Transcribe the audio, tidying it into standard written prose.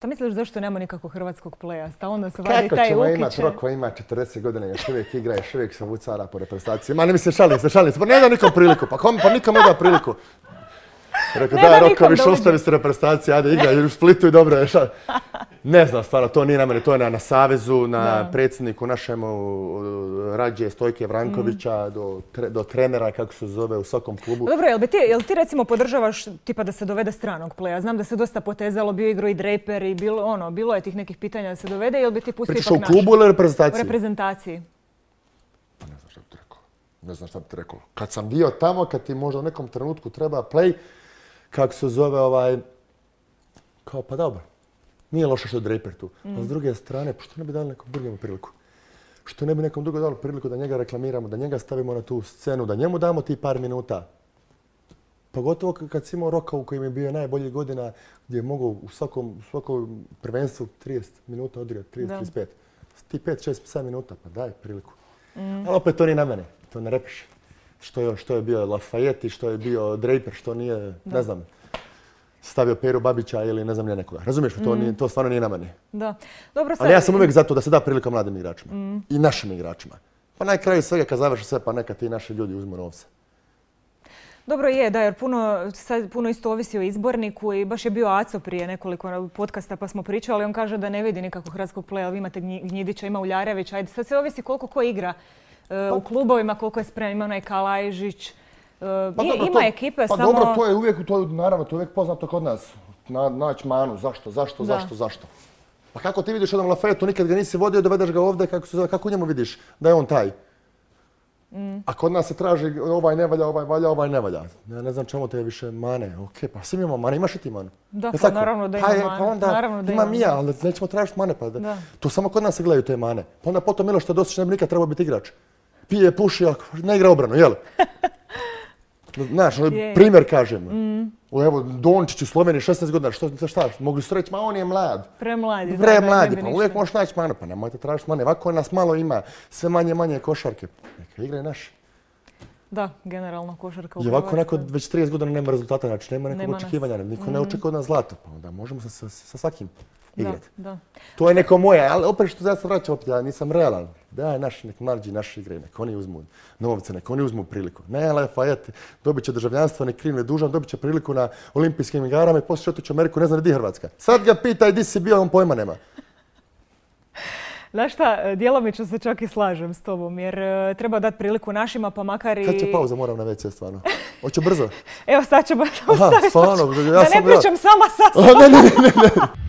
Šta misliš zašto nema nikakvog hrvatskog pleja? Stalno se vadi taj Ukić. Kako ćemo imati Roko, ima 40 godina, još uvijek igra, još uvijek se vucara po reprezentaciji. Ma ne mi se šalim se. Pa ne da nikom priliku, pa nikom ne da priliku. Rekao da Roko više ostavi se reprezentacije, ajde igra u Splitu i dobro je. Ne znam stvarno, to nije na mene, to je na Savezu, na predsjedniku našemu Rađe Stojke Vrankovića, do trenera, kako se zove, u svakom klubu. Dobro, jel ti recimo podržavaš tipa da se dovede stranog pleja? Znam da se dosta potezalo, bio igrao i Draper i bilo je tih nekih pitanja da se dovede, jel bi ti pustio ipak naš? Pričaš u klubu ili reprezentaciji? U reprezentaciji. Pa ne znam šta bi ti rekao. Ne znam šta bi ti rekao. Kad sam bio tamo, kad ti možda u nekom trenutku treba play, kako se zove kao pa dobro. Nije loše što je Draper tu. A s druge strane, što ne bi dali nekom drugom priliku? Što ne bi nekom drugom dali priliku da njega reklamiramo, da njega stavimo na tu scenu, da njemu damo ti par minuta? Pogotovo kad si imao Roka u kojem je bio najbolji godina, gdje je mogao u svakom prvenstvu 30 minuta odigrati, 30-35. Ti 5-6-7 minuta, pa daj priliku. Ali opet to nije na mene, to ne repiše. Što je bio Lafayette, što je bio Draper, što nije, ne znam, stavio Peru Babića ili ne znam nije nekoga. Razumiješ, to stvarno nije na mene. Da. Dobro, ali ja sam uvijek za to da se da prilika mladim igračima i našim igračima. Pa na kraju svega kad završi sve, pa neka ti naši ljudi uzmu novce. Dobro je, da, jer puno isto ovisi o izborniku i baš je bio Aco prije nekoliko podcasta pa smo pričali, on kaže da ne vidi nikakvog hrvatskog pleja, vi imate Gnjidića, ima Uljarevića, ajde sad se ovisi koliko ko igra u klubovima, koliko je spreman, ima onaj Kalajžić, ima ekipe, samo... Pa dobro, to je uvijek, naravno, to je uvijek poznato kod nas, naći manu, zašto? Pa kako ti vidiš jednom Lafayette, nikad ga nisi vodio, dovedeš ga ovdje, kako u njemu vidiš da je on taj? A kod nas se traži ovaj ne valja, ovaj valja, ovaj ne valja. Ja ne znam čemu te više mane. Ok, pa svi imamo mane, imaš i ti mane? Da, pa naravno da ima mane. Pa onda imam i ja, ali nećemo tražiti mane. To samo kod nas se gledaju te mane. Pa onda potom Miloš Teodosić ne bi nikad trebao biti igrač. Pije, puši, ne igra obranu, jel? Znaš, primjer kažem. Evo, Dončić u Sloveniji 16 godina, šta? Mogli su reći, ma on je mlad. Premladi. Pa uvijek možeš naći mane, pa nemojte tražiti mane. Ovako nas malo ima, sve manje košarke. Neka igra i naš. Da, generalno košarka u Hrvatskoj. I ovako neko već 30 godina nema rezultata, znači nema nekog očekivanja, niko ne očekuje od nas zlato. Pa onda možemo sa svakim igrati. To je neko moje, ali opet što ja se vraćam opet, ja nisam realan. Daj nek mlađi naši igraju, nek oni uzmu novce, nek oni uzmu priliku. Ne, Lafayette dobit će državljanstvo, nek kriv ne dužan, dobit će priliku na olimpijskim igrama i poslije otići u Ameriku, ne znam gdje je Hrvatska. Sad ga pitaj di si bio, on pojma nema. Znaš šta, djelomično se čak i slažem s tobom, jer treba dati priliku našima, pa makar i... Kad će pauza, moram na WC stvarno. Hoće brzo? Evo sad ćemo ostaviti. Da ne pričam sama sa sobom. Ne.